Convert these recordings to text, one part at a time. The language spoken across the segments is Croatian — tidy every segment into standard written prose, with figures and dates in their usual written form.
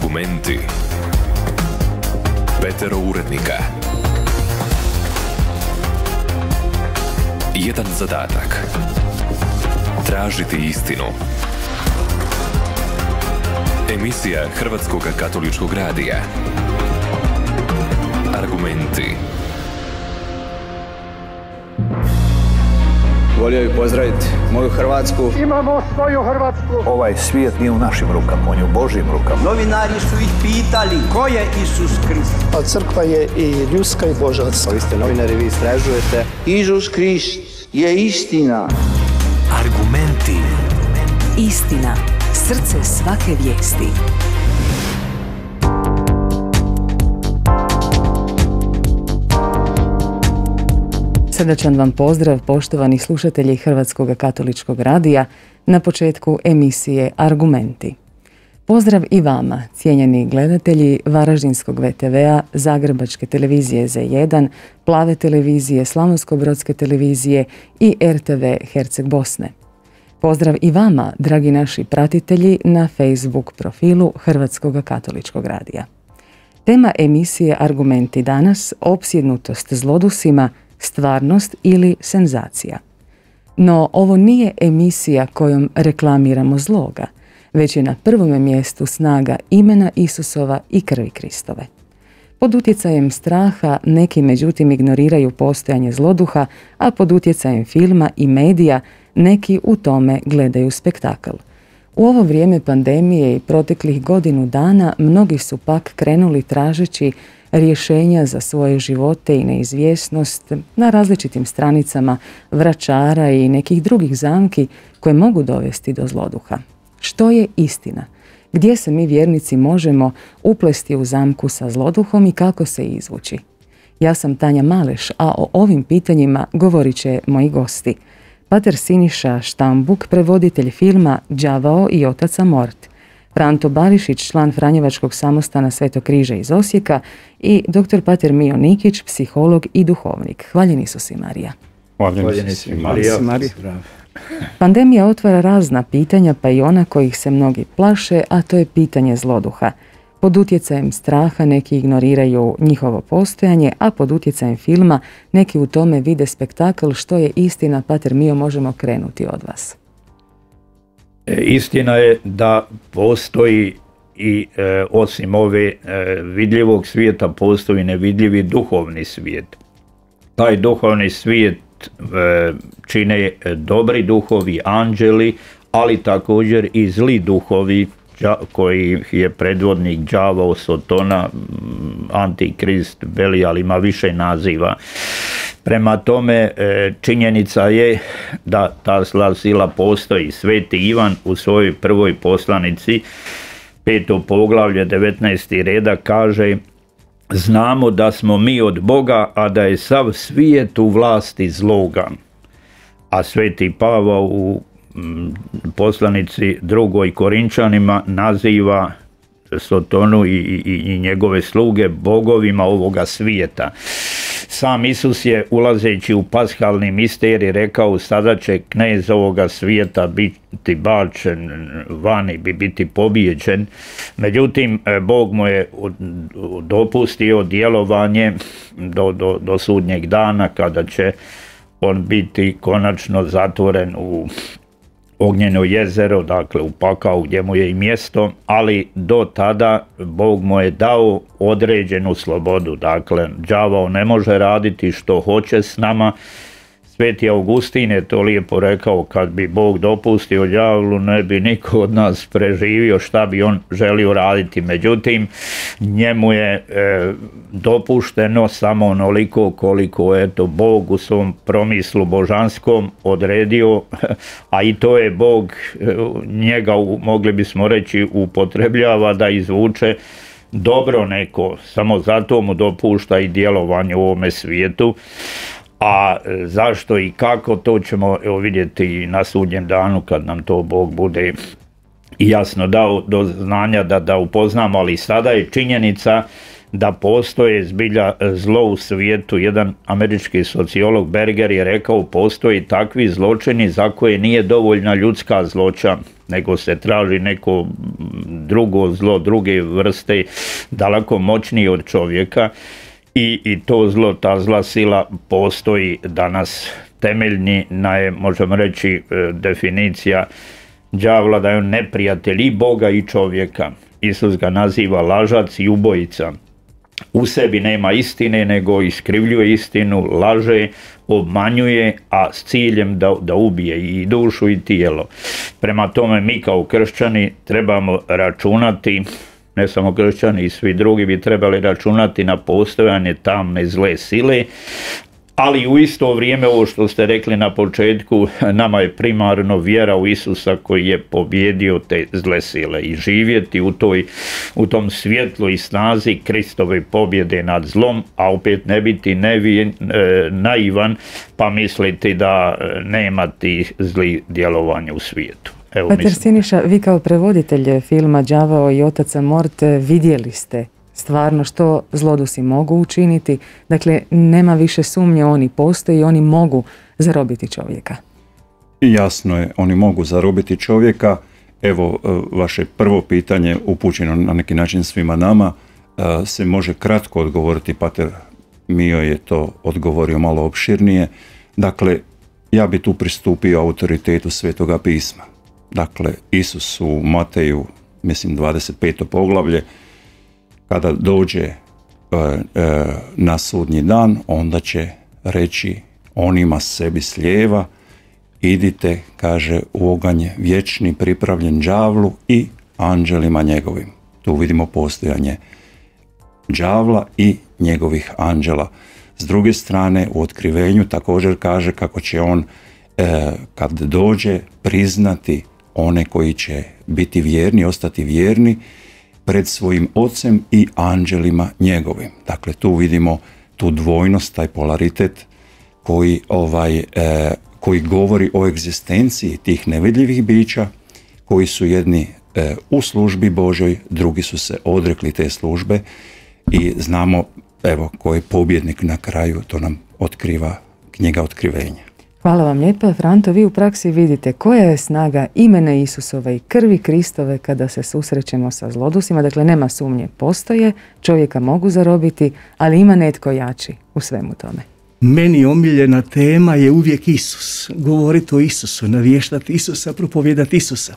Argumenti. Petero urednika. Jedan zadatak. Tražiti istinu. Emisija Hrvatskog katoličkog radija. Argumenti. Volio bih pozdraviti moju Hrvatsku. Imamo svoju Hrvatsku. Ovaj svijet nije u našim rukama, on je u Božjim rukama. Novinari su ih pitali ko je Isus Krist. A crkva je i ljudska i božanska. Vi ste novinari, vi istražujete. Isus Krist je istina. Argumenti. Istina. Srce svake vijesti. Srdačan vam pozdrav, poštovani slušatelji Hrvatskog katoličkog radija, na početku emisije Argumenti. Pozdrav i vama, cijenjeni gledatelji Varaždinskog VTV-a, Zagrebačke televizije Z1, Plave televizije, Slavonsko-brodske televizije i RTV Herceg Bosne. Pozdrav i vama, dragi naši pratitelji, na Facebook profilu Hrvatskog katoličkog radija. Tema emisije Argumenti danas: opsjednutost zlodusima, stvarnost ili senzacija. No, ovo nije emisija kojom reklamiramo zloga, već je na prvome mjestu snaga imena Isusova i krvi Kristove. Pod utjecajem straha neki međutim ignoriraju postojanje zloduha, a pod utjecajem filma i medija neki u tome gledaju spektakl. U ovo vrijeme pandemije i proteklih godinu dana mnogi su pak krenuli tražeći rješenja za svoje živote i neizvjesnost na različitim stranicama vračara i nekih drugih zamki koje mogu dovesti do zloduha. Što je istina? Gdje se mi vjernici možemo uplesti u zamku sa zloduhom i kako se izvući? Ja sam Tanja Maleš, a o ovim pitanjima govorit će moji gosti. Pater Siniša Štambuk, prevoditelj filma Đavao i otac Amort, Franto Barišić, član Franjevačkog samostana Svetog križa iz Osijeka i dr. pater Mio Nikić, psiholog i duhovnik. Hvaljeni su si Marija. Hvaljeni si Marija. Pandemija otvara razna pitanja, pa i ona kojih se mnogi plaše, a to je pitanje zloduha. Pod utjecajem straha neki ignoriraju njihovo postojanje, a pod utjecajem filma neki u tome vide spektakl. Što je istina, pater Mio, možemo krenuti od vas. Istina je da postoji i osim ove vidljivog svijeta postoji nevidljivi duhovni svijet. Taj duhovni svijet čine dobri duhovi, anđeli, ali također i zli duhovi koji je predvodnik đavao, Sotona, Antikrist, Belijal, ima više naziva. Prema tome, činjenica je da ta zla sila postoji. Sveti Ivan u svojoj prvoj poslanici, 5. poglavlje, 19. redak kaže: znamo da smo mi od Boga, a da je sav svijet u vlasti zloga. A Sveti Pavao u poslanici 2. Korinčanima naziva Sotonu i njegove sluge bogovima ovoga svijeta. Sam Isus je, ulazeći u paskalni misterij, rekao: sada će knez ovoga svijeta biti bačen vani, biti pobijeđen. Međutim, Bog mu je dopustio djelovanje do sudnjeg dana, kada će on biti konačno zatvoren u ognjeno jezero, dakle u pakao gdje mu je i mjesto, ali do tada Bog mu je dao određenu slobodu. Dakle, đavao ne može raditi što hoće s nama. Sveti Augustin je to lijepo rekao: kad bi Bog dopustio đavlu, ne bi niko od nas preživio, šta bi on želio raditi. Međutim, njemu je dopušteno samo onoliko koliko Bog u svom promislu božanskom odredio, a i to je Bog njega, mogli bismo reći, upotrebljava da izvuče dobro neko, samo zato mu dopušta i djelovanje u ovome svijetu. A zašto i kako, to ćemo vidjeti na sudnjem danu, kad nam to Bog bude jasno dao do znanja da upoznamo. Ali sada je činjenica da postoje zbilja zlo u svijetu. Jedan američki sociolog Berger je rekao: postoji takvi zločini za koje nije dovoljna ljudska zloća, nego se traži neko drugo zlo, druge vrste, daleko moćnije od čovjeka i to zlo, ta zla sila postoji danas. Temeljni, možemo reći, definicija đavla da je on neprijatelj i Boga i čovjeka. Isus ga naziva lažac i ubojica. U sebi nema istine, nego iskrivljuje istinu, laže, obmanjuje, a s ciljem da ubije i dušu i tijelo. Prema tome mi kao kršćani trebamo računati, ne samo kršćani i svi drugi bi trebali računati na postojanje tamne zle sile, ali u isto vrijeme, ovo što ste rekli na početku, nama je primarno vjera u Isusa koji je pobjedio te zle sile i živjeti u tom svjetlu i snazi Kristove pobjede nad zlom, a opet ne biti naivan pa misliti da nema tih zlih djelovanja u svijetu. Pater Siniša, vi kao prevoditelj filma Đavao i otac Amort vidjeli ste stvarno što zlodusi mogu učiniti. Dakle, nema više sumnje, oni postoje i oni mogu zarobiti čovjeka. Jasno je, oni mogu zarobiti čovjeka. Evo, vaše prvo pitanje upućeno na neki način svima nama se može kratko odgovoriti, Pater Mio je to odgovorio malo opširnije. Dakle, ja bi tu pristupio autoritetu Svetoga pisma. Dakle, Isus u Mateju, mislim 25. poglavlje, kada dođe na sudnji dan, onda će reći onima sebi s lijeva, idite, kaže, u oganj vječni pripravljen đavlu i anđelima njegovim. Tu vidimo postojanje đavla i njegovih anđela. S druge strane, u Otkrivenju također kaže kako će on, kad dođe, priznati one koji će biti vjerni, ostati vjerni pred svojim ocem i anđelima njegovim. Dakle, tu vidimo tu dvojnost, taj polaritet koji govori o egzistenciji tih nevidljivih bića, koji su jedni u službi Božoj, drugi su se odrekli te službe i znamo, evo, ko je pobjednik na kraju, to nam otkriva knjiga Otkrivenja. Hvala vam lijepa. Franto, vi u praksi vidite koja je snaga imena Isusove i krvi Kristove kada se susrećemo sa zlodusima. Dakle, nema sumnje, postoje, čovjeka mogu zarobiti, ali ima netko jači u svemu tome. Meni omiljena tema je uvijek Isus. Govoriti o Isusu, navještati Isusa, propovijedati Isusa.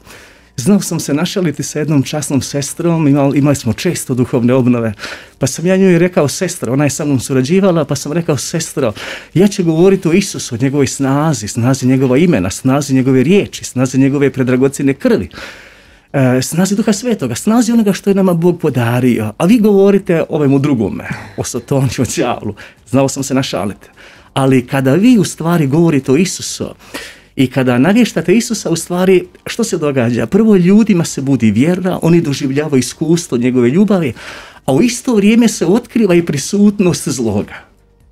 Znao sam se našaliti sa jednom časnom sestrom, imali smo često duhovne obnove, pa sam ja njoj rekao, sestro, ona je sa mnom surađivala, pa sam rekao, sestro, ja ću govoriti o Isusu, o njegovoj snazi, snazi njegova imena, snazi njegove riječi, snazi njegove predragocjene krvi, snazi Duha Svetoga, snazi onoga što je nama Bog podario, a vi govorite ovemu drugome, o Satoni, o đavlu. Znao sam se našaliti. Ali kada vi u stvari govorite o Isusu, i kada navještate Isusa, u stvari, što se događa? Prvo, ljudima se budi vjera, oni doživljavaju iskustvo njegove ljubavi, a u isto vrijeme se otkriva i prisutnost zloga.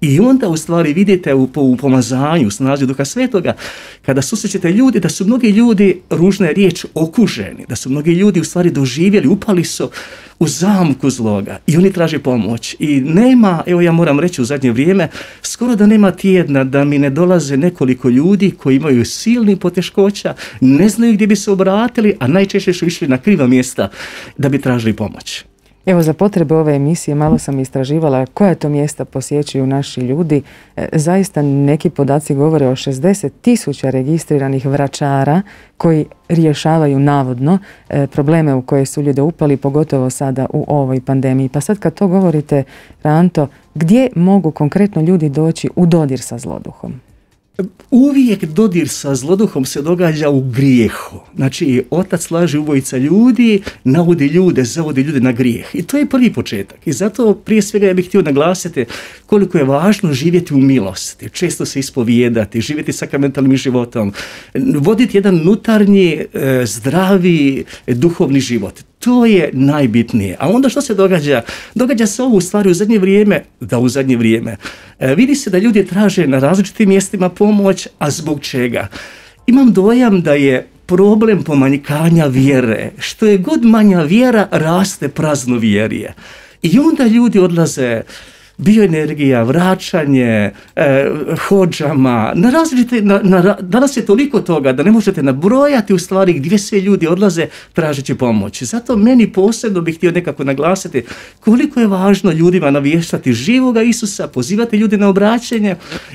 I onda u stvari vidite u pomazanju, snazi Duha Svetoga, kada susrećete ljudi, da su mnogi ljudi, ružna je riječ, okuženi, da su mnogi ljudi u stvari doživjeli, upali su u zamku zloga i oni traže pomoć. I nema, evo ja moram reći u zadnje vrijeme, skoro da nema tjedna da mi ne dolaze nekoliko ljudi koji imaju silnih poteškoća, ne znaju gdje bi se obratili, a najčešće su išli na kriva mjesta da bi tražili pomoć. Evo, za potrebe ove emisije malo sam istraživala koja to mjesta posjećuju naši ljudi. Zaista neki podaci govore o 60.000 registriranih vračara koji rješavaju navodno probleme u koje su ljude upali, pogotovo sada u ovoj pandemiji. Pa sad kad to govorite, Franto, gdje mogu konkretno ljudi doći u dodir sa zloduhom? Uvijek dodir sa zloduhom se događa u grijehu. Znači, otac laži, ubojica ljudi, navodi ljude, zavodi ljude na grijeh. I to je prvi početak. I zato prije svega ja bih htio naglasiti koliko je važno živjeti u milosti, često se ispovijedati, živjeti sakramentalnim životom, voditi jedan unutarnji, zdravi, duhovni život. To je najbitnije. A onda što se događa? Događa se ovo u stvari u zadnje vrijeme. Vidi se da ljudi traže na različitim mjestima pomoć, a zbog čega? Imam dojam da je problem pomanjkanja vjere. Što je god manja vjera, raste praznovjerje. I onda ljudi odlaze bioenergija, vraćanje, hodžama, na različite, danas je toliko toga da ne možete nabrojati u stvari gdje sve ljudi odlaze tražeći pomoć. Zato meni posebno bih htio nekako naglasiti koliko je važno ljudima navještati živoga Isusa, pozivati ljude na obraćanje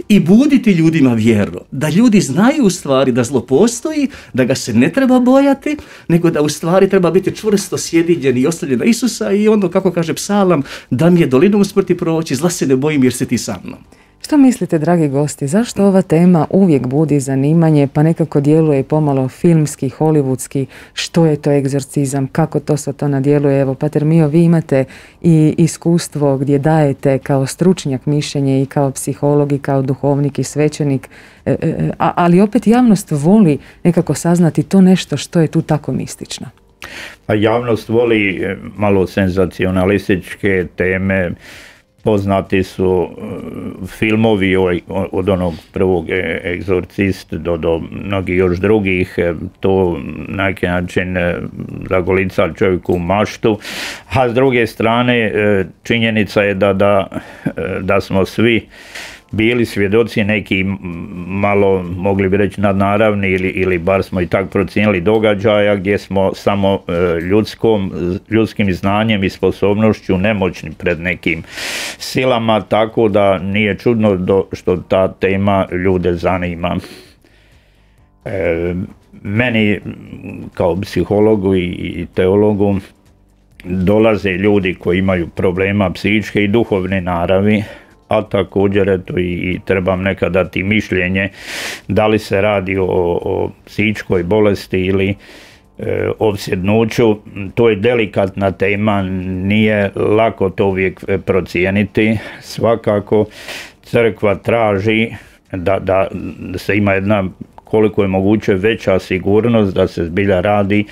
i buditi ljudima vjeru. Da ljudi znaju u stvari da zlo postoji, da ga se ne treba bojati, nego da u stvari treba biti čvrsto sjedinjen i oslonjen na Isusa i ono, kako kaže psalam, da mi je dolinom smrti proći, zla se ne bojim jer si ti sa mnom. Što mislite, dragi gosti, zašto ova tema uvijek budi zanimanje, pa nekako djeluje pomalo filmski, hollywoodski, što je to egzorcizam, kako to sve to nadjeluje? Evo, Pater Mio, vi imate i iskustvo gdje dajete kao stručnjak mišljenje i kao psiholog i kao duhovnik i svećenik, ali opet javnost voli nekako saznati to nešto što je tu tako mistično. A javnost voli malo senzacionalističke teme. Poznati su filmovi od onog prvog Egzorcist do mnogih još drugih, to na neki način zagolica čovjeku maštu, a s druge strane činjenica je da smo svi bili svjedoci neki malo, mogli bi reći, nadnaravni ili bar smo i tak procijenili događaja gdje smo samo ljudskim znanjem i sposobnošću nemoćni pred nekim silama, tako da nije čudno što ta tema ljude zanima. Meni kao psihologu i teologu dolaze ljudi koji imaju problema psihičke i duhovne naravi, a također eto i trebam nekad dati mišljenje da li se radi o psihičkoj bolesti ili opsjednuću. To je delikatna tema, nije lako to uvijek procijeniti. Svakako crkva traži da se ima jedna koliko je moguće veća sigurnost da se zbilja radi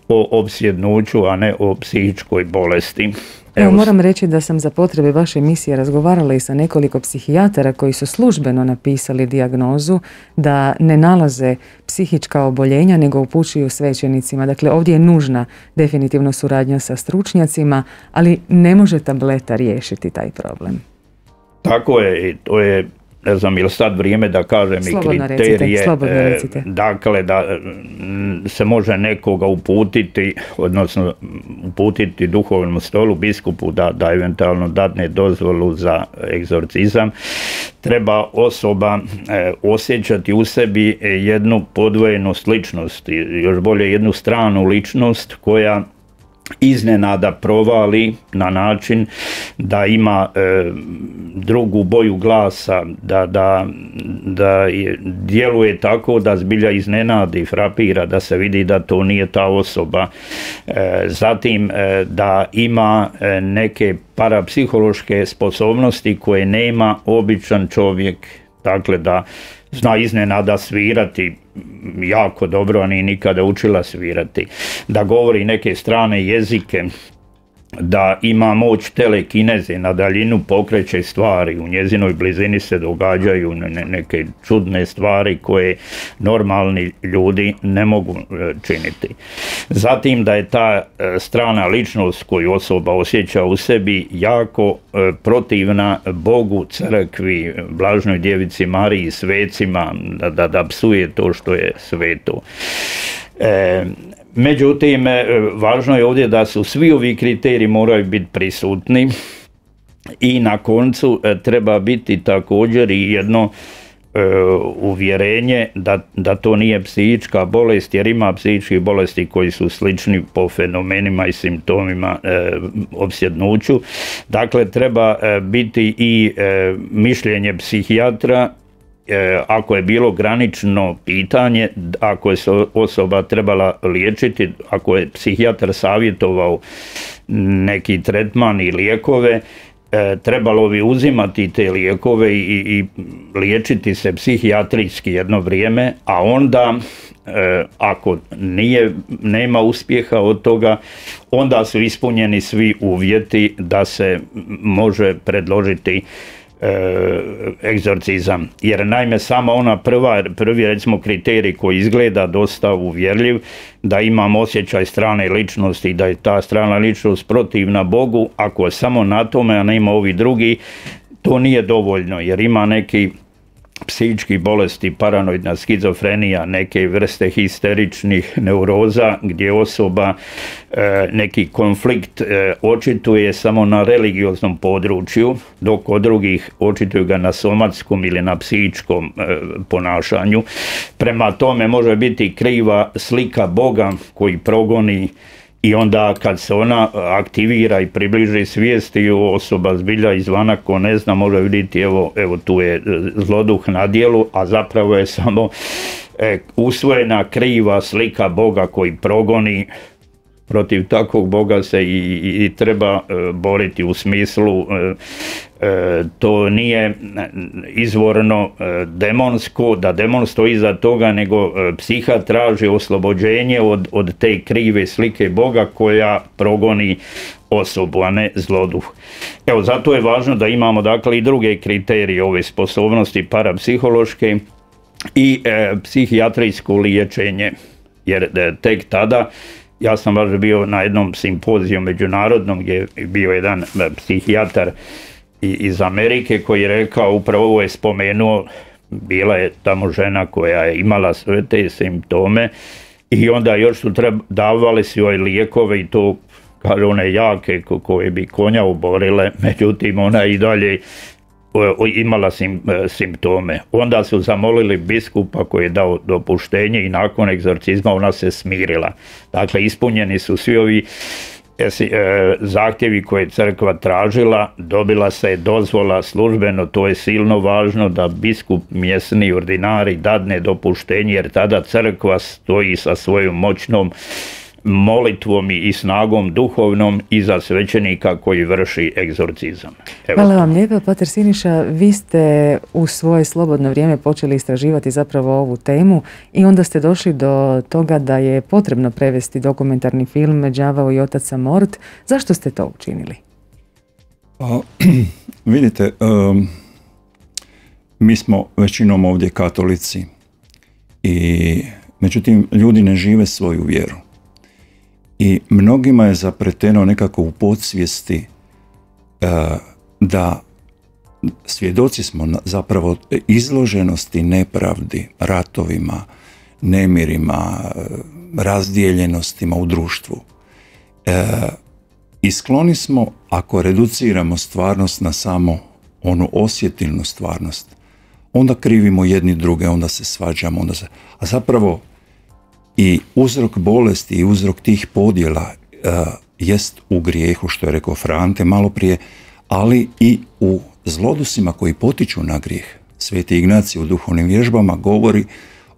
o opsjednuću, a ne o psihičkoj bolesti. Evo, moram reći da sam za potrebe vaše emisije razgovarala i sa nekoliko psihijatara koji su službeno napisali dijagnozu da ne nalaze psihička oboljenja nego upućuju svećenicima. Dakle, ovdje je nužna definitivno suradnja sa stručnjacima, ali ne može tableta riješiti taj problem. Tako je, i to je, ne znam, ili sad vrijeme da kažem slobodno i kriterije, recite. Dakle da se može nekoga uputiti, odnosno uputiti duhovnom stolu, biskupu da eventualno dadne dozvolu za egzorcizam. Treba osoba osjećati u sebi jednu podvojenu ličnost, još bolje jednu stranu ličnost koja iznenada provali na način da ima drugu boju glasa, da djeluje tako da zbilja iznenadi, frapira, da se vidi da to nije ta osoba. Zatim da ima neke parapsihološke sposobnosti koje nema običan čovjek, dakle da zna iznenada svirati jako dobro, a nije nikada učila svirati, da govori neke strane jezike, da ima moć telekineze, na daljinu pokreće stvari, u njezinoj blizini se događaju neke čudne stvari koje normalni ljudi ne mogu činiti. Zatim da je ta strana ličnost koju osoba osjeća u sebi jako protivna Bogu, crkvi, blažnoj djevici Mariji, svecima, da psuje to što je sveto. Međutim, važno je ovdje da su svi ovi kriteriji moraju biti prisutni i na koncu treba biti također i jedno uvjerenje da to nije psihička bolest, jer ima psihičkih bolesti koji su slični po fenomenima i simptomima opsjednuću. Dakle, treba biti i mišljenje psihijatra ako je bilo granično pitanje, ako je se osoba trebala liječiti, ako je psihijatar savjetovao neki tretman i lijekove, trebalo bi uzimati te lijekove i liječiti se psihijatrijski jedno vrijeme, a onda ako nema uspjeha od toga, onda su ispunjeni svi uvjeti da se može predložiti egzorcizam. Jer naime samo ona prvi recimo kriterij koji izgleda dosta uvjerljiv, da imam osjećaj strane ličnosti, da je ta strana ličnost protivna Bogu, ako je samo na tome, a nema ovi drugi, to nije dovoljno, jer ima neki psihički bolesti, paranoidna skizofrenija, neke vrste histeričnih neuroza gdje osoba neki konflikt očituje samo na religioznom području, dok kod drugih očituju ga na somatskom ili na psihičkom ponašanju. Prema tome može biti kriva slika Boga koji progoni, i onda kad se ona aktivira i približi svijesti, osoba zbilja izvana ko ne zna može vidjeti evo tu je zloduh na djelu, a zapravo je samo usvojena kriva slika Boga koji progoni. Protiv takvog Boga se i treba boriti, u smislu to nije izvorno demonsko, da demon stoji iza toga, nego psiha traži oslobođenje od te krive slike Boga koja progoni osobu, a ne zloduh. Evo, zato je važno da imamo dakle i druge kriterije ove sposobnosti parapsihološke i psihijatrijsko liječenje, jer tek tada, ja sam baš bio na jednom simpoziju međunarodnom gdje je bio jedan psihijatar iz Amerike koji je rekao, upravo ovo je spomenuo, bila je tamo žena koja je imala sve te simptome i onda još su davali su joj lijekove i to, kaže, one jake koje bi konja oborile, međutim ona i dalje imala simptome. Onda su zamolili biskupa koji je dao dopuštenje i nakon egzorcizma ona se smirila. Dakle, ispunjeni su svi ovi zahtjevi koje je crkva tražila, dobila se dozvola službeno, to je silno važno da biskup, mjesni ordinari dadne dopuštenje, jer tada crkva stoji sa svojom moćnom molitvom i snagom duhovnom iza svećenika koji vrši egzorcizam. Hvala vam lijepa, pater Siniša. Vi ste u svoje slobodno vrijeme počeli istraživati zapravo ovu temu i onda ste došli do toga da je potrebno prevesti dokumentarni film Đavao i otac Amort. Zašto ste to učinili? Vidite, mi smo većinom ovdje katolici i međutim ljudi ne žive svoju vjeru. I mnogima je zapreteno nekako u podsvijesti da svjedoci smo zapravo izloženosti nepravdi, ratovima, nemirima, razdijeljenostima u društvu. I skloni smo, ako reduciramo stvarnost na samo onu osjetilnu stvarnost, onda krivimo jedni druge, onda se svađamo, a zapravo i uzrok bolesti i uzrok tih podjela jest u grijehu, što je rekao Frante malo prije, ali i u zlodusima koji potiču na grijeh. Sveti Ignacij u duhovnim vježbama govori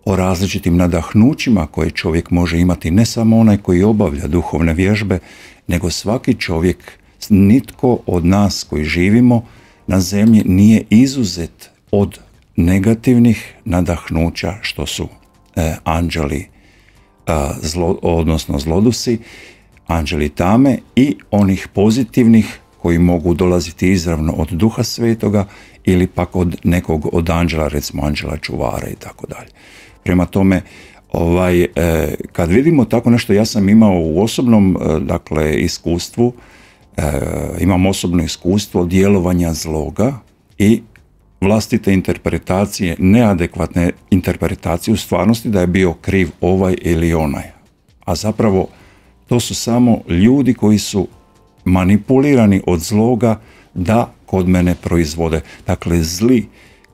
o različitim nadahnućima koje čovjek može imati, ne samo onaj koji obavlja duhovne vježbe, nego svaki čovjek, nitko od nas koji živimo na zemlji nije izuzet od negativnih nadahnuća što su anđeli, odnosno zlodusi, anđeli tame, i onih pozitivnih koji mogu dolaziti izravno od Duha Svetoga ili pak od nekog od anđela, recimo anđela čuvara i tako dalje. Prema tome, kad vidimo tako nešto, ja sam imao u osobnom iskustvu, imam osobno iskustvo djelovanja zloga i vlastite interpretacije, neadekvatne interpretacije u stvarnosti da je bio kriv ovaj ili onaj. A zapravo to su samo ljudi koji su manipulirani od zloga da kod mene proizvode. Dakle, zli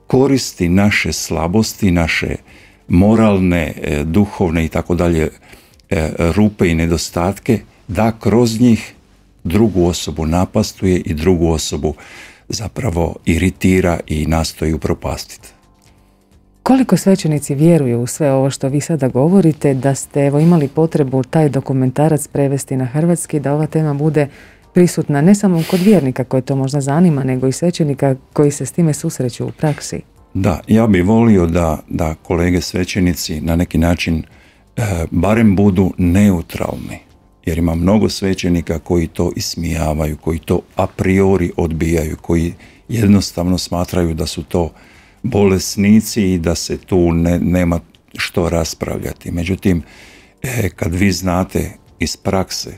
koristi naše slabosti, naše moralne, duhovne i tako dalje rupe i nedostatke, da kroz njih drugu osobu napastuje i drugu osobu zapravo iritira i nastoji upropastiti. Koliko svećenici vjeruju u sve ovo što vi sada govorite, da ste imali potrebu taj dokumentarac prevesti na hrvatski, da ova tema bude prisutna ne samo kod vjernika koje to možda zanima, nego i svećenika koji se s time susreću u praksi? Da, ja bih volio da kolege svećenici na neki način barem budu neutralni, jer ima mnogo svećenika koji to ismijavaju, koji to a priori odbijaju, koji jednostavno smatraju da su to bolesnici i da se tu nema što raspravljati. Međutim, kad vi znate iz prakse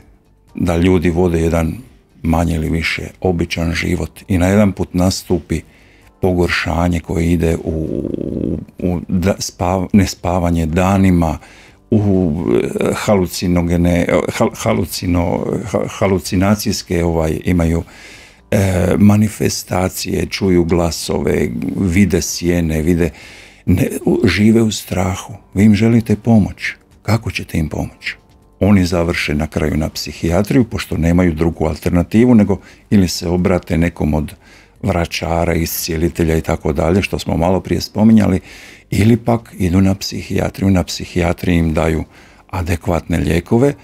da ljudi vode jedan manje ili više običan život i na jedan put nastupi pogoršanje koje ide u nespavanje danima, u halucinacijske imaju manifestacije, čuju glasove, vide sjene, žive u strahu. Vi im želite pomoć. Kako ćete im pomoći? Oni završe na kraju na psihijatriju, pošto nemaju drugu alternativu, nego ili se obrate nekom od vračara, iscijelitelja i tako dalje, što smo malo prije spominjali, ili pak idu na psihijatriju. Na psihijatriji im daju adekvatne lijekove.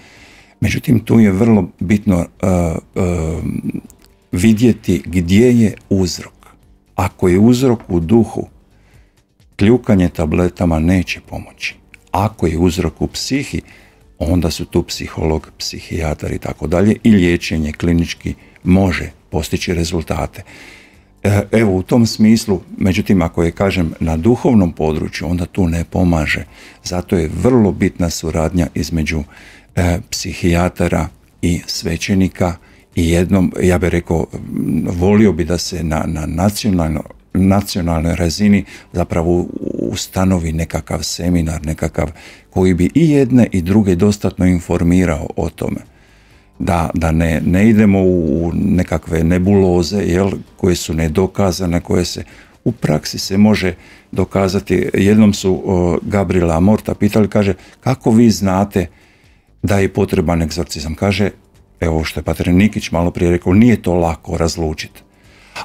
Međutim, tu je vrlo bitno vidjeti gdje je uzrok. Ako je uzrok u duhu, kljukanje tabletama neće pomoći. Ako je uzrok u psihi, onda su tu psiholog, psihijatar i tako dalje i liječenje klinički može postići rezultate. Evo, u tom smislu, međutim, ako je, kažem, na duhovnom području, onda tu ne pomaže. Zato je vrlo bitna suradnja između psihijatara i svećenika i jednom, ja bih rekao, volio bi da se na nacionalnoj razini zapravo ustanovi nekakav seminar, nekakav koji bi i jedne i druge dostatno informirao o tome. Da ne idemo u nekakve nebuloze, koje su nedokazane, koje se u praksi se može dokazati. Jednom su Gabriela Amorta pitali, kaže, kako vi znate da je potreban egzorcizam? Kaže, evo što je pater Nikić malo prije rekao, nije to lako razlučiti.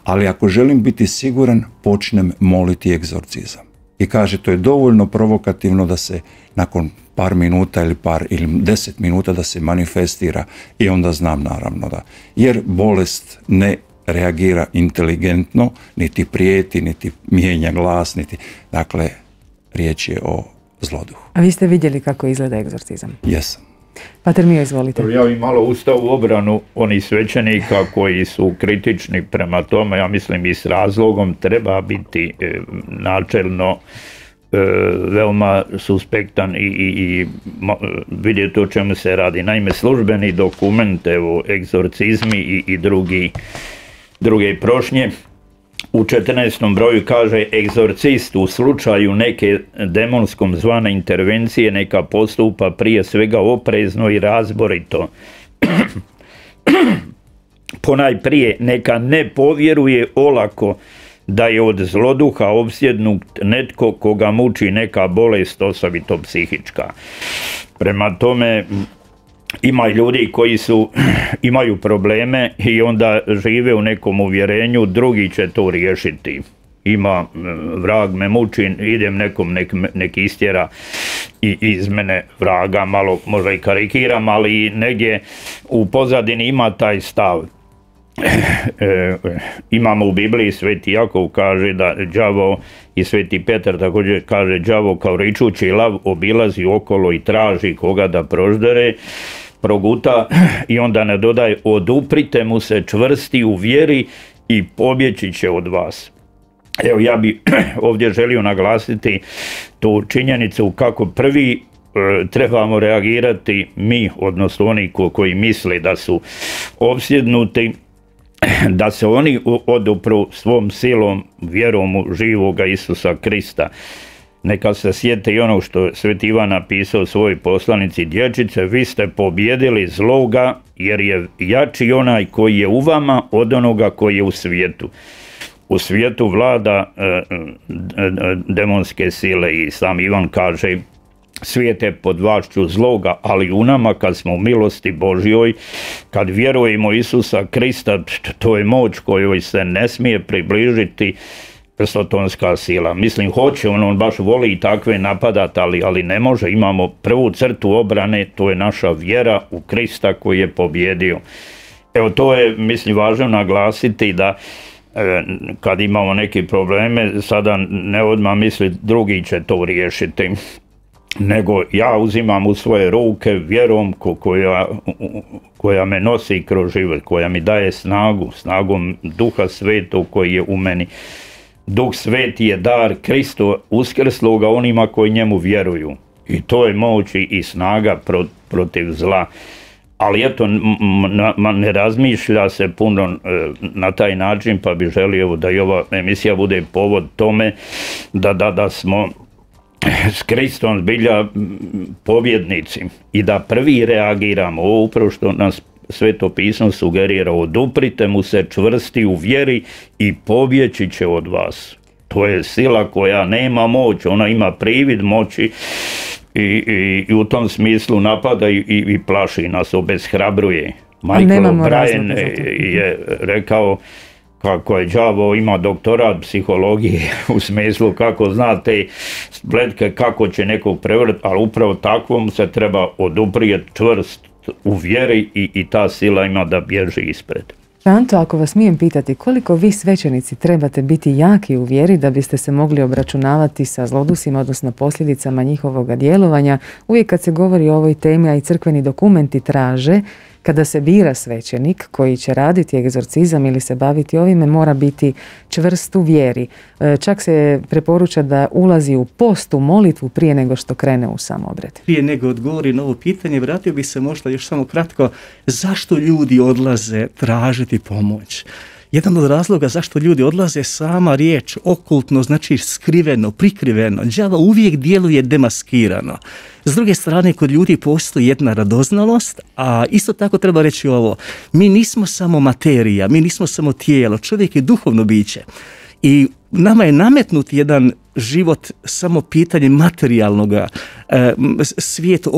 Ali ako želim biti siguran, počnem moliti egzorcizam. I kaže, to je dovoljno provokativno da se nakon par minuta ili 10 minuta da se manifestira i onda znam naravno da. Jer bolest ne reagira inteligentno, niti prijeti, niti mijenja glas, dakle, riječ je o zloduhu. A vi ste vidjeli kako izgleda egzorcizam? Jesam. Pater Mio, izvolite. Ja bih malo ustao u obranu onih svećenika koji su kritični prema tome, ja mislim i s razlogom, treba biti načelno veoma suspektan i vidjeti o čemu se radi. Naime, službeni dokument, evo, egzorcizmi i druge prošnje, u 14. broju kaže, egzorcist u slučaju neke demonskom zvane intervencije neka postupa prije svega oprezno i razborito. Ponajprije neka ne povjeruje olako da je od zloduha opsjednut netko koga muči neka bolest, osobito psihička. Prema tome, ima ljudi koji imaju probleme i onda žive u nekom uvjerenju, drugi će to riješiti. Ima, vrag me muči, idem nekom nek istjera i iz mene vraga, malo možda i karikiram, ali negdje u pozadini ima taj stav. Imamo u Bibliji, Sveti Jakov kaže da đavo, i Sveti Petar također kaže, đavo kao ričući lav obilazi okolo i traži koga da proždere, proguta, i onda ne dodaje, oduprite mu se čvrsti u vjeri i pobjeći će od vas. Evo, ja bi ovdje želio naglasiti tu činjenicu kako prvi trebamo reagirati mi, odnosno oni koji misle da su opsjednuti, da se oni odupru svom silom, vjerom u živoga Isusa Krista. Neka se sjete i ono što je Sveti Ivan napisao u svojoj poslanici, dječice, vi ste pobjedili zloga, jer je jači onaj koji je u vama od onoga koji je u svijetu. U svijetu vlada demonske sile i sam Ivan kaže, svijet je pod vlašću zloga, ali u nama kad smo u milosti Božjoj, kad vjerujemo Isusa Krista, to je moć kojoj se ne smije približiti sotonska sila. Mislim, hoće, on baš voli i takve napadati, ali ne može. Imamo prvu crtu obrane, to je naša vjera u Krista koji je pobjedio. Evo, to je, mislim, važno naglasiti da kad imamo neke probleme, sada ne odmah misli drugi će to riješiti, nego ja uzimam u svoje ruke vjerom koja me nosi kroz život, koja mi daje snagom Duha Svetog koji je u meni. Duh Sveti je dar Kristo uskrsloga onima koji njemu vjeruju. I to je moć i snaga protiv zla. ali eto, ne razmišlja se puno na taj način, pa bi želio da i ova emisija bude povod tome da smo s Kristom zbilja pobjednici i da prvi reagiramo. Ovo upravo što nas Sveto pismo sugerira, oduprite mu se čvrsti u vjeri i pobjeći će od vas. To je sila koja nema moć, ona ima privid moći i u tom smislu napada i plaši nas, obeshrabruje. Michael O'Brien je rekao kako je đavo ima doktorat psihologije u smislu kako zna te spletke, kako će nekog prevrti, ali upravo takvom se treba oduprijeti čvrst u vjeri i ta sila ima da bježi ispred. Anto, ako vas smijem pitati, koliko vi svećenici trebate biti jaki u vjeri da biste se mogli obračunavati sa zlodusima, odnosno posljedicama njihovog djelovanja? Uvijek kad se govori o ovoj temi, a i crkveni dokumenti traže, kada se bira svećenik koji će raditi egzorcizam ili se baviti ovime, mora biti čvrst u vjeri. Čak se preporuča da ulazi u post, u molitvu prije nego što krene u sam obred. Prije nego odgovori na ovo pitanje, vratio bi se možda još samo kratko, zašto ljudi odlaze tražiti pomoć? Jedan od razloga zašto ljudi odlaze, sama riječ okultno, znači skriveno, prikriveno. Đavo uvijek djeluje demaskirano. S druge strane, kod ljudi postoji jedna radoznalost, a isto tako treba reći ovo. Mi nismo samo materija, mi nismo samo tijelo, čovjek je duhovno biće. I nama je nametnut jedan život samo pitanje materijalnog svijeta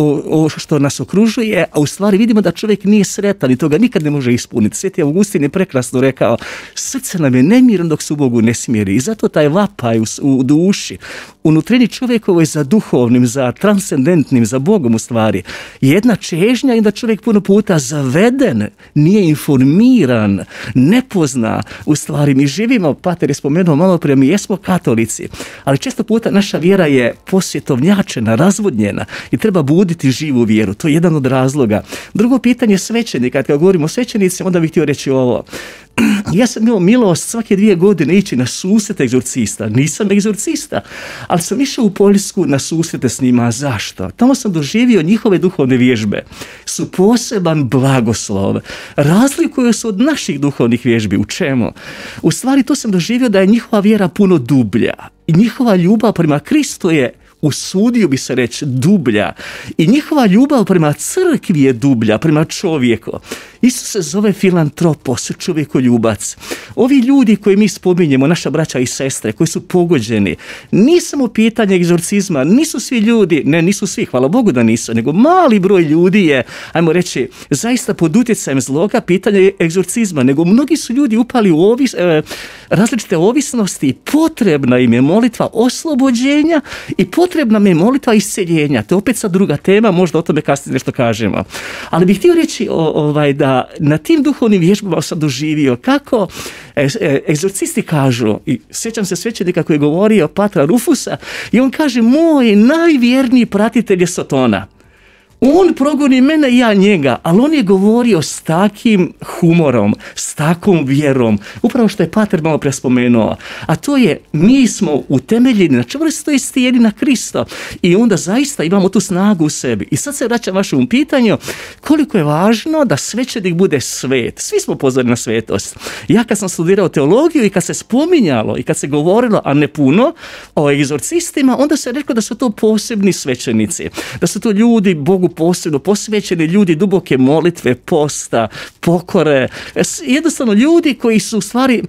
što nas okružuje, a u stvari vidimo da čovjek nije sretan i toga nikad ne može ispuniti. Sveti Augustin je prekrasno rekao, srce nam je nemirno dok se u Bogu ne smiri i zato taj vapaj u duši, unutrini čovjekovoj za duhovnim, za transcendentnim, za Bogom u stvari, je jedna čežnja i da čovjek puno puta zaveden, nije informiran, ne pozna. U stvari mi živimo, pater je spomenuo malo prije, mi jesmo katolici, ali često puta naša vjera je posvjetovnjačena, razvodnjena i treba buditi živu vjeru. To je jedan od razloga. Drugo pitanje svećenika. Kad govorimo o svećenicima, onda bih htio reći ovo. Ja sam imao milost svake 2 godine ići na susret egzorcista. Nisam egzorcista, ali sam išao u Poljsku na susrete s njima. Zašto? Tamo sam doživio njihove duhovne vježbe. Su poseban blagoslov. Razlikuju se od naših duhovnih vježbi. U čemu? U stvari to sam doživio da je njihova vjera puno dublja. I njihova ljubav prema Kristu je, usudio bi se reći, dublja. I njihova ljubav prema crkvi je dublja, prema čovjeku. Isus se zove filantropos, čovjekoljubac. Ovi ljudi koji mi spominjemo, naša braća i sestre, koji su pogođeni, nije samo pitanje egzorcizma, nisu svi ljudi, ne, nisu svi, hvala Bogu da nisu, nego mali broj ljudi je, ajmo reći, zaista pod utjecajem zloga pitanje egzorcizma, nego mnogi su ljudi upali u različite ovisnosti i potrebna im je molitva oslobođenja i potrebna mi je molitva isceljenja. To je opet sad druga tema, možda o tome kasnije nešto kažemo. Ali bih htio reći da na tim duhovnim vježbama sam doživio kako egzorcisti kažu, i sjećam se svećenika koji je govorio, patra Rufusa, i on kaže, moj najvjerniji pratitelj je Sotona. On progoni mene i ja njega, ali on je govorio s takim humorom, s takvom vjerom, upravo što je pater malo prije spomenuo, a to je, mi smo utemeljeni na čvrstoj stijeni na Krista i onda zaista imamo tu snagu u sebi. I sad se vraćam vašem pitanju, koliko je važno da svećenik bude svet. Svi smo pozvani na svetost. Ja kad sam studirao teologiju i kad se spominjalo i kad se govorilo, a ne puno, o egzorcistima, onda se reklo da su to posebni svećenici, da su to ljudi Bogu posebno posvećeni, ljudi duboke molitve, posta, pokore, jednostavno ljudi koji su u stvari,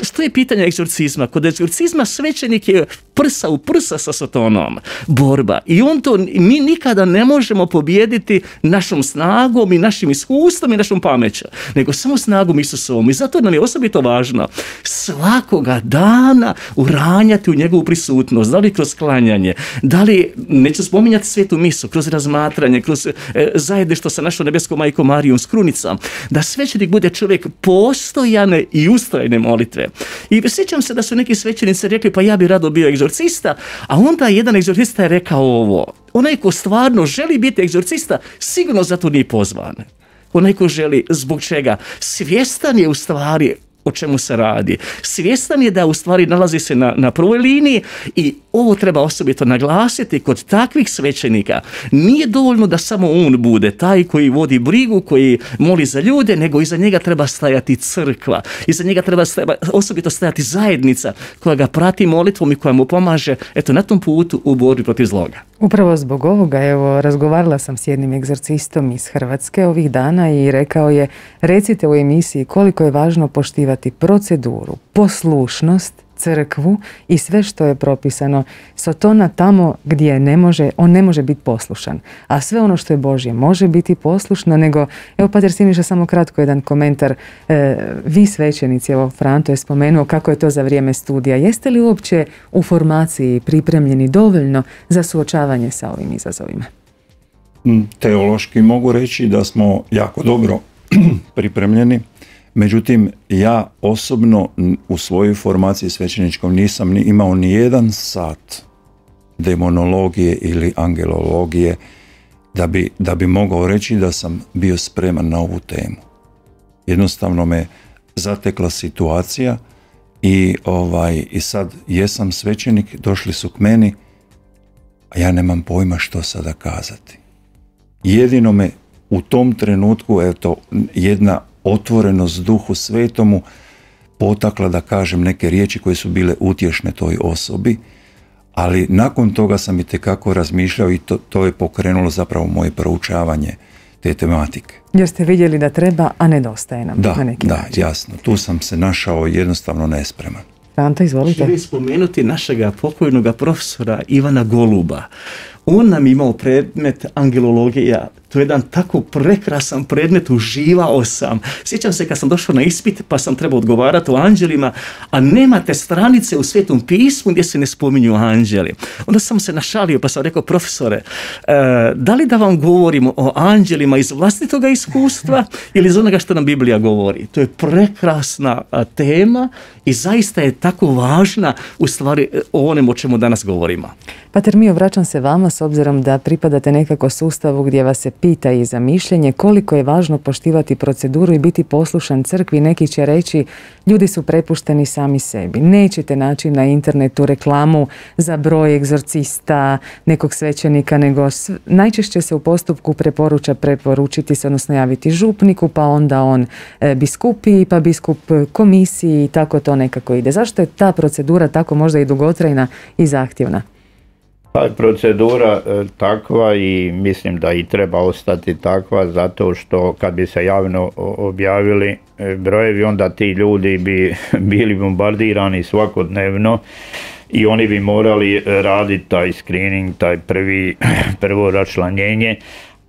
što je pitanje egzorcizma? Kod egzorcizma svećenik je prsa u prsa sa Sotonom, borba, i on to mi nikada ne možemo pobijediti našom snagom i našim iskustvom i našom pameću, nego samo snagom Isusovom. I zato nam je osobito važno svakoga dana uranjati u njegovu prisutnost, da li kroz klanjanje, da li, neću spominjati svetu misu, kroz razmatranje, kroz zajedništvo sa našom nebeskom majkom Marijom s krunicom, da svećenik bude čovjek postojane i ustrajne molitve. I sjećam se da su neki svećenici rekli, pa ja bi rado bio egzorcista, a onda jedan egzorcista je rekao ovo, onaj ko stvarno želi biti egzorcista, sigurno za to nije pozvan. Onaj ko želi, zbog čega? Svjestan je u stvari o čemu se radi. Svjestan je da u stvari nalazi se na prvoj liniji i ovo treba osobito naglasiti kod takvih svećenika. Nije dovoljno da samo on bude taj koji vodi brigu, koji moli za ljude, nego iza njega treba stajati crkva. Iza njega treba osobito stajati zajednica koja ga prati molitvom i koja mu pomaže na tom putu u borbi protiv zloga. Upravo zbog ovoga, razgovarala sam s jednim egzorcistom iz Hrvatske ovih dana i rekao je, recite u emisiji koliko je važno poštivati proceduru, poslušnost, crkvu i sve što je propisano. Sotona tamo gdje on ne može biti poslušan, a sve ono što je Božje može biti poslušno, nego, pater Siniša, samo kratko jedan komentar. Vi svećenici, Franto je spomenuo kako je to za vrijeme studija. Jeste li uopće u formaciji pripremljeni dovoljno za suočavanje sa ovim izazovima? Teološki mogu reći da smo jako dobro pripremljeni. Međutim, ja osobno u svojoj formaciji svećeničkom nisam imao ni jedan sat demonologije ili angelologije da bi mogao reći da sam bio spreman na ovu temu. Jednostavno me zatekla situacija i sad jesam svećenik, došli su k meni, a ja nemam pojma što sada kazati. Jedino me u tom trenutku, jedna otvorenost Duhu Svetomu potakla da kažem neke riječi koje su bile utješne toj osobi, ali nakon toga sam itekako razmišljao i to je pokrenulo zapravo moje proučavanje te tematike. Jer ste vidjeli da treba, a nedostaje nam na neki način. Da, jasno. Tu sam se našao jednostavno nespreman. Franta, izvolite. Želim spomenuti našega pokojnog profesora Ivana Goluba. On nam imao predmet angelologija. To je jedan tako prekrasan predmet, uživao sam. Sjećam se kad sam došao na ispit pa sam trebao odgovarati o anđelima, a nemate stranice u Svetom pismu gdje se ne spominju anđeli. Onda sam se našalio pa sam rekao, profesore, da li da vam govorimo o anđelima iz vlastitoga iskustva ili iz onoga što nam Biblija govori? To je prekrasna tema i zaista je tako važna u stvari o onemu o čemu danas govorimo. Pater Mio, vraćam se vama s obzirom da pripadate nekako sustavu gdje vas se pita i za mišljenje koliko je važno poštivati proceduru i biti poslušan crkvi. Neki će reći, ljudi su prepušteni sami sebi. Nećete naći na internetu reklamu za broj egzorcista, nekog svećenika, nego najčešće se u postupku preporučiti se, odnosno javiti župniku, pa onda on biskupiji, pa biskup komisiji i tako to nekako ide. Zašto je ta procedura tako možda i dugotrajna i zahtjevna? Ta je procedura takva i mislim da i treba ostati takva, zato što kad bi se javno objavili brojevi, onda ti ljudi bi bili bombardirani svakodnevno i oni bi morali raditi taj screening, taj prvo raščlanjenje,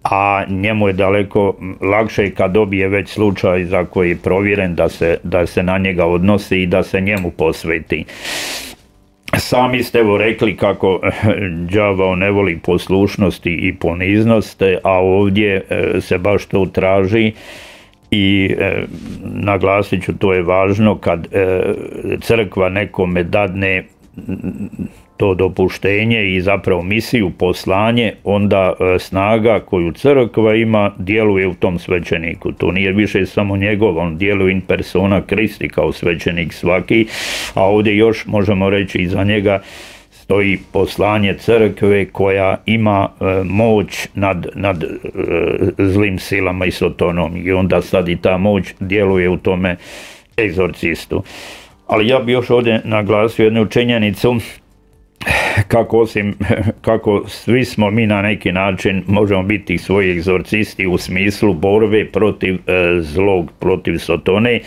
a njemu je daleko lakše kad dobije već slučaj za koji je provjeren da se na njega odnosi i da se njemu posveti. Sami ste rekli kako đavao ne voli poslušnosti i poniznost, a ovdje se baš to traži i naglasit ću, to je važno kad crkva nekome dadne to dopuštenje i zapravo misiju, poslanje, onda snaga koju crkva ima djeluje u tom svećeniku. To nije više samo njegov, on djeluje in persona Christi kao svećenik svaki, a ovdje još možemo reći iza njega stoji poslanje crkve koja ima moć nad zlim silama i sotonom i onda sad i ta moć djeluje u tome egzorcistu. Ali ja bih još ovdje naglasio jednu činjenicu kako svi smo mi na neki način možemo biti svoji egzorcisti u smislu borbe protiv zlog, protiv sotone.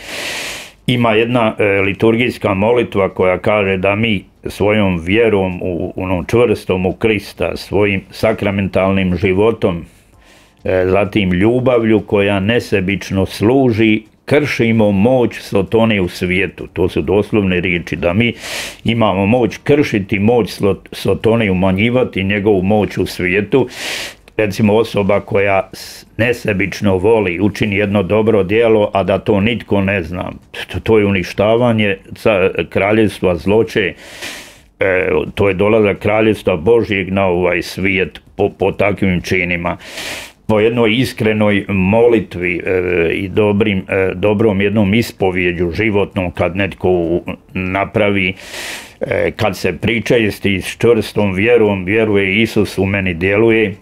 Ima jedna liturgijska molitva koja kaže da mi svojom vjerom onom čvrstom u Krista, svojim sakramentalnim životom, zatim ljubavlju koja nesebično služi, kršimo moć sotone u svijetu. To su doslovne riječi, da mi imamo moć kršiti moć sotone, umanjivati njegovu moć u svijetu. Recimo osoba koja nesebično voli, učini jedno dobro djelo, a da to nitko ne zna. To je uništavanje kraljevstva zloće, to je dolazak kraljevstva Božjeg na ovaj svijet po takvim činima. po jednoj iskrenoj molitvi i dobrom jednom ispovjeđu životnom, kad netko napravi, kad se pričesti s čvrstom vjerom, vjeruje Isus u meni djeluje,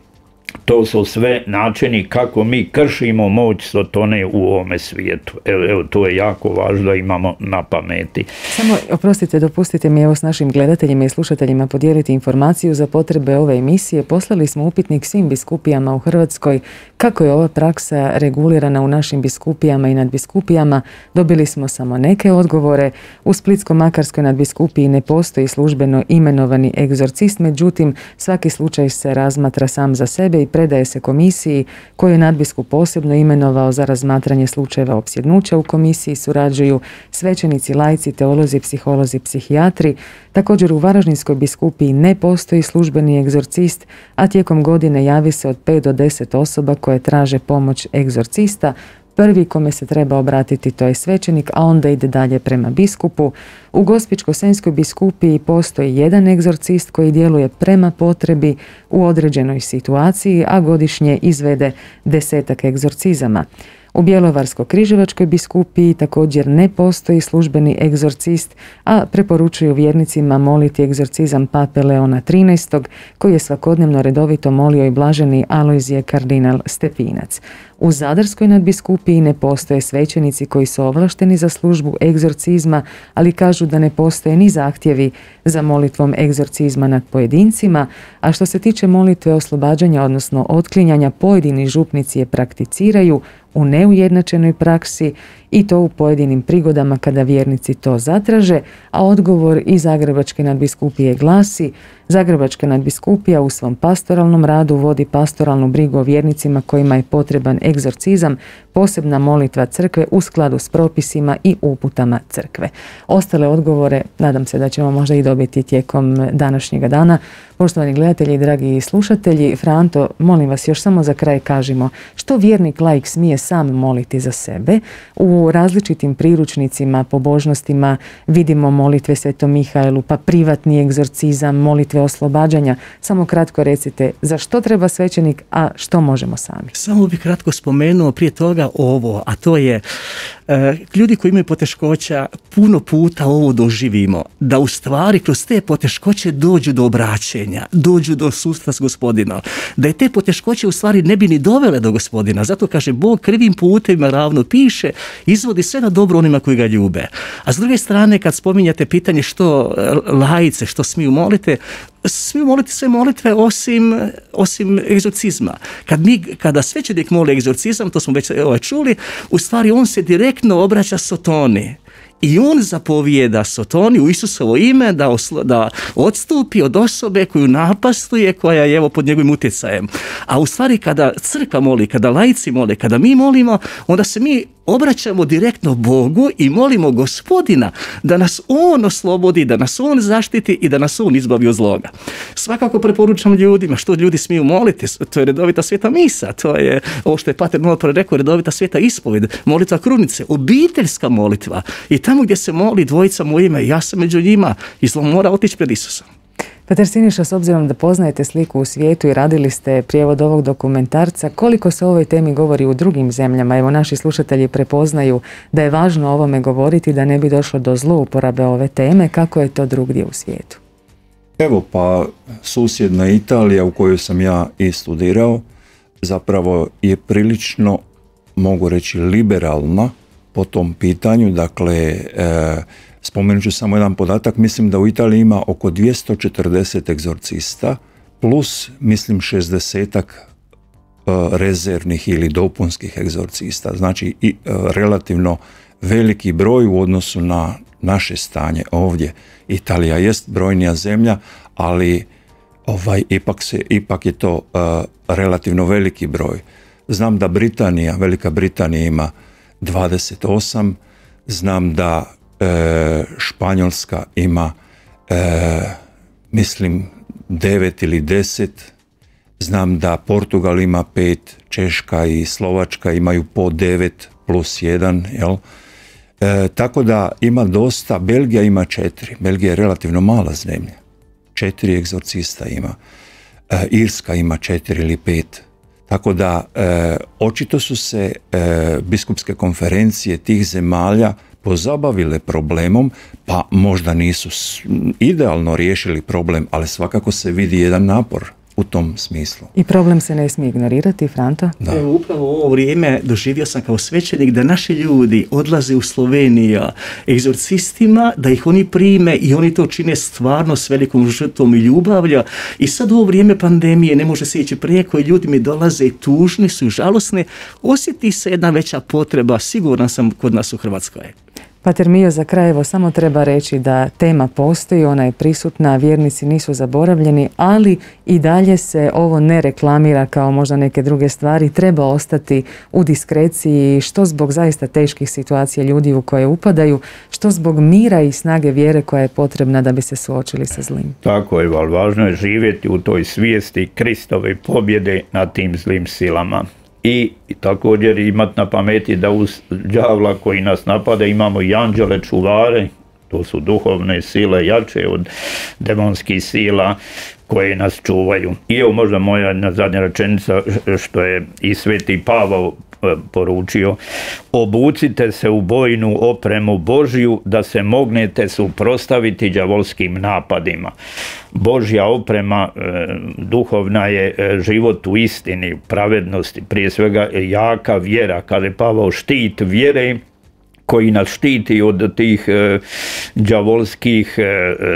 to su sve načini kako mi kršimo moć Sotone u ovome svijetu. Evo, to je jako važno da imamo na pameti. Samo, oprostite, dopustite mi evo s našim gledateljima i slušateljima podijeliti informaciju za potrebe ove emisije. Poslali smo upitnik svim biskupijama u Hrvatskoj kako je ova praksa regulirana u našim biskupijama i nadbiskupijama. Dobili smo samo neke odgovore. U Splitsko-makarskoj nadbiskupiji ne postoji službeno imenovani egzorcist, međutim svaki slučaj se razmatra sam za sebe i predaje se komisiji koju je nadbiskup posebno imenovao za razmatranje slučajeva opsjednuća. U komisiji surađuju svećenici, laici, teolozi, psiholozi, psihijatri. Također u Varaždinskoj biskupiji ne postoji službeni egzorcist, a tijekom godine javi se od 5 do 10 osoba koje traže pomoć egzorcista. Prvi kome se treba obratiti to je svećenik, a onda ide dalje prema biskupu. U Gospićko-senjskoj biskupiji postoji jedan egzorcist koji djeluje prema potrebi u određenoj situaciji, a godišnje izvede 10 egzorcizama. U Bjelovarsko-križevačkoj biskupiji također ne postoji službeni egzorcist, a preporučuju vjernicima moliti egzorcizam pape Leona XIII, koji je svakodnevno redovito molio i blaženi Alojzije kardinal Stepinac. U Zadarskoj nadbiskupiji ne postoje svećenici koji su ovlašteni za službu egzorcizma, ali kažu da ne postoje ni zahtjevi za molitvom egzorcizma nad pojedincima, a što se tiče molitve oslobađanja, odnosno otklinjanja, pojedini župnici je prakticiraju u neujednačenoj praksi i to u pojedinim prigodama kada vjernici to zatraže, a odgovor iz Zagrebačke nadbiskupije glasi: Zagrebačka nadbiskupija u svom pastoralnom radu vodi pastoralnu brigu o vjernicima kojima je potreban egzorcizam, posebna molitva crkve u skladu s propisima i uputama crkve. Ostale odgovore nadam se da ćemo možda i dobiti tijekom današnjega dana. Poštovani gledatelji i dragi slušatelji, Franto, molim vas još samo za kraj kažimo što vjernik laik smije sam moliti za sebe. U različitim priručnicima, pobožnostima vidimo molitve Svetom Mihaelu, pa privatni egzorcizam, molitve oslobađanja. Samo kratko recite za što treba svećenik, a što možemo sami. Samo bih kratko spomenuo prije toga ovo, a to je ljudi koji imaju poteškoća puno puta ovo doživimo, da u stvari kroz te poteškoće dođu do obraćenja, dođu do susreta s Gospodinom, da je te poteškoće u stvari ne bi ni dovele do Gospodina. Zato kaže Bog krivim putevima ravno piše, izvodi sve na dobro onima koji ga ljube. A s druge strane, kad spominjate pitanje što laice, što smiju moliti sve molitve osim egzorcizma. Kada svećenik moli egzorcizam, to smo već čuli, u stvari on se direktno obraća Sotoni. I on zapovijeda Sotoni u Isusovo ime da odstupi od osobe koju napastuje, koja je pod njegovim utjecajem. A u stvari kada crkva moli, kada laici mole, kada mi molimo, onda se mi obraćamo direktno Bogu i molimo Gospodina da nas On oslobodi, da nas On zaštiti i da nas On izbavi od zloga. Svakako preporučam ljudima što ljudi smiju moliti, to je redovita sveta misa, to je ovo što je pater malo rekao, redovita sveta ispovjed, molitva krunice, obiteljska molitva i tamo gdje se moli dvojica u ime, ja sam među njima i zlo mora otići pred Isusom. Pater Siniša, s obzirom da poznajete sliku u svijetu i radili ste prijevod ovog dokumentarca, koliko se o ovoj temi govori u drugim zemljama? Evo, naši slušatelji prepoznaju da je važno o ovome govoriti, da ne bi došlo do zlouporabe ove teme. Kako je to drugdje u svijetu? Evo, pa susjedna Italija u kojoj sam ja i studirao zapravo je prilično, mogu reći, liberalna po tom pitanju. Dakle, spomenut ću samo jedan podatak, mislim da u Italiji ima oko 240 egzorcista plus mislim 60-ak rezervnih ili dopunskih egzorcista. Znači i relativno veliki broj u odnosu na naše stanje ovdje. Italija jest brojnija zemlja, ali ipak je to relativno veliki broj. Znam da Velika Britanija ima 28, znam da Španjolska ima mislim 9 ili 10, znam da Portugal ima 5, Češka i Slovačka imaju po 9 plus 1, jel? Tako da ima dosta. Belgija ima 4, Belgija je relativno mala zemlja, 4 egzorcista ima, Irska ima 4 ili 5, Tako da očito su se biskupske konferencije tih zemalja pozabavile problemom, pa možda nisu idealno riješili problem, ali svakako se vidi jedan napor u tom smislu. I problem se ne smije ignorirati, Franto? Da. Evo, upravo u ovo vrijeme doživio sam kao svećenik da naši ljudi odlaze u Sloveniju egzorcistima, da ih oni prime i oni to čine stvarno s velikom žrtvom i ljubavlju. I sad u ovo vrijeme pandemije ne može se ići preko i ljudi mi dolaze i tužni su i žalosni. Osjeti se jedna veća potreba, siguran sam, kod nas u Hrvatskoj. Pater Mio, za kraj evo samo treba reći da tema postoji, ona je prisutna, vjernici nisu zaboravljeni, ali i dalje se ovo ne reklamira kao možda neke druge stvari, treba ostati u diskreciji, što zbog zaista teških situacija ljudi u koje upadaju, što zbog mira i snage vjere koja je potrebna da bi se suočili sa zlim. Tako je, ali važno je živjeti u toj svijesti Kristove pobjede nad tim zlim silama. I također imati na pameti da uz đavla koji nas napada imamo i anđele čuvare, to su duhovne sile jače od demonskih sila koje nas čuvaju. I evo možda moja zadnja rečenica što je i sveti Pavao poručio: obucite se u bojnu opremu Božju da se mognete suprotstaviti đavolskim napadima. Božja oprema duhovna je život u istini, pravednosti, prije svega jaka vjera, kaže Pavao, štit vjere koji nas štiti od tih đavolskih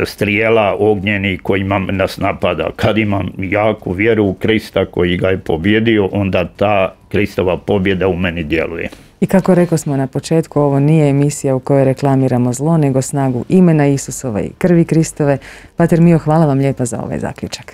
strijela ognjenih kojima nas napada. Kad imam jaku vjeru u Krista koji ga je pobjedio, onda ta Kristova pobjeda u meni djeluje. I kako rekao smo na početku, ovo nije emisija u kojoj reklamiramo zlo, nego snagu imena Isusova i krvi Kristove. Pater Mio, hvala vam lijepa za ovaj zaključak.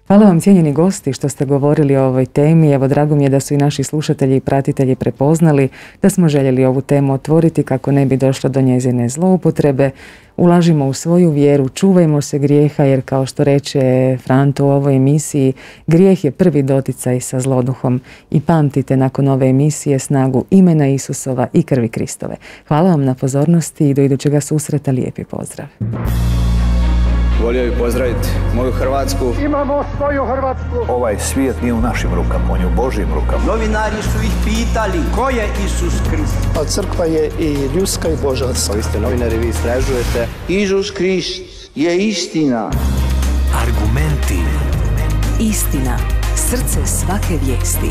Hvala vam, cijenjeni gosti, što ste govorili o ovoj temi. Evo, drago mi je da su i naši slušatelji i pratitelji prepoznali da smo željeli ovu temu otvoriti kako ne bi došlo do njezine zloupotrebe. Ulažimo u svoju vjeru, čuvajmo se grijeha, jer kao što reče Franto u ovoj emisiji, grijeh je prvi doticaj sa zloduhom. I pamtite nakon ove emisije snagu imena Isusova i krvi Kristove. Hvala vam na pozornosti i do idućega susreta, lijepi pozdrav. Volio bih pozdraviti moju Hrvatsku. Imamo svoju Hrvatsku. Ovaj svijet nije u našim rukama, on je u Božjim rukama. Novinari su ih pitali ko je Isus Krist. A crkva je i ljudska i božanska. Vi ste novinari, vi istražujete. Isus Krist je istina. Argumenti. Istina. Srce svake vijesti.